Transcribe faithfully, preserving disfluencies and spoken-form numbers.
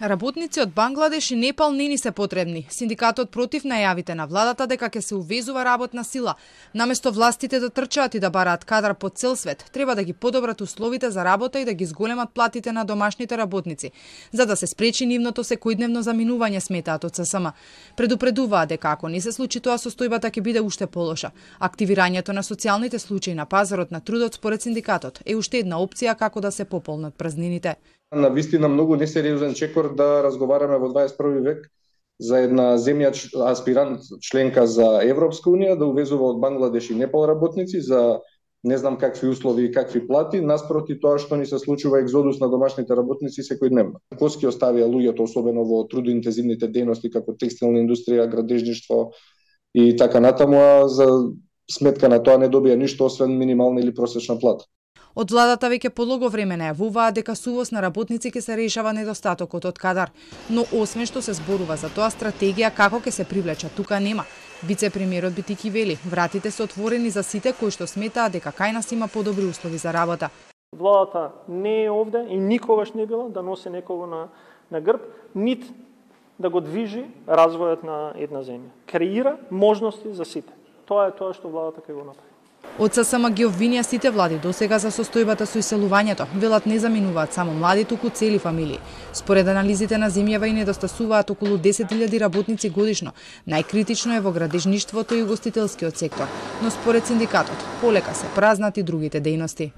Работници од Бангладеш и Непал не ни се потребни. Синдикатот против најавите на владата дека ќе се увезува работна сила. Наместо властите да трчаат и да бараат кадар по цел свет, треба да ги подобрат условите за работа и да ги зголемат платите на домашните работници, за да се спречи нивното секојдневно заминување, сметаат од ССМ. Предупредуваат дека ако не се случи тоа, состојбата ќе биде уште полоша. Активирањето на социјалните случаи на пазарот на трудот според синдикатот е уште една опција како да се пополнат празнините. На вистина многу несериозен чекор да разговараме во дваесет и први век за една земја аспирант членка за Европска унија да увезува од Бангладеш и Непал работници за не знам какви услови и какви плати, наспроти тоа што ни се случува екзодус на домашните работници секојдневно. Коски оставија луѓето, особено во трудоинтензивните дејности како текстилна индустрија, градежништво и така натаму, а за сметка на тоа не добија ништо освен минимална или просечна плата. Од владата веќе подолго време најавуваат дека со увоз на работници ќе се решава недостатокот од кадар, но освен што се зборува за тоа, стратегија како ќе се привлечат тука нема. Вице-премиерот Битики вели, вратите се отворени за сите кои што сметаат дека кај нас има подобри услови за работа. Владата не е овде и никогаш не била да носи некого на, на грб, нит да го движи развојот на една земја. Креира можности за сите. Тоа е тоа што владата ќе го направи. Од ССМ ги обвинија сите влади досега за состојбата со иселувањето. Велат не заминуваат само млади, туку цели фамилии. Според анализите на земјава и недостасуваат околу десет илјади работници годишно. Најкритично е во градежништвото и угостителскиот сектор, но според синдикатот полека се празнат и другите дејности.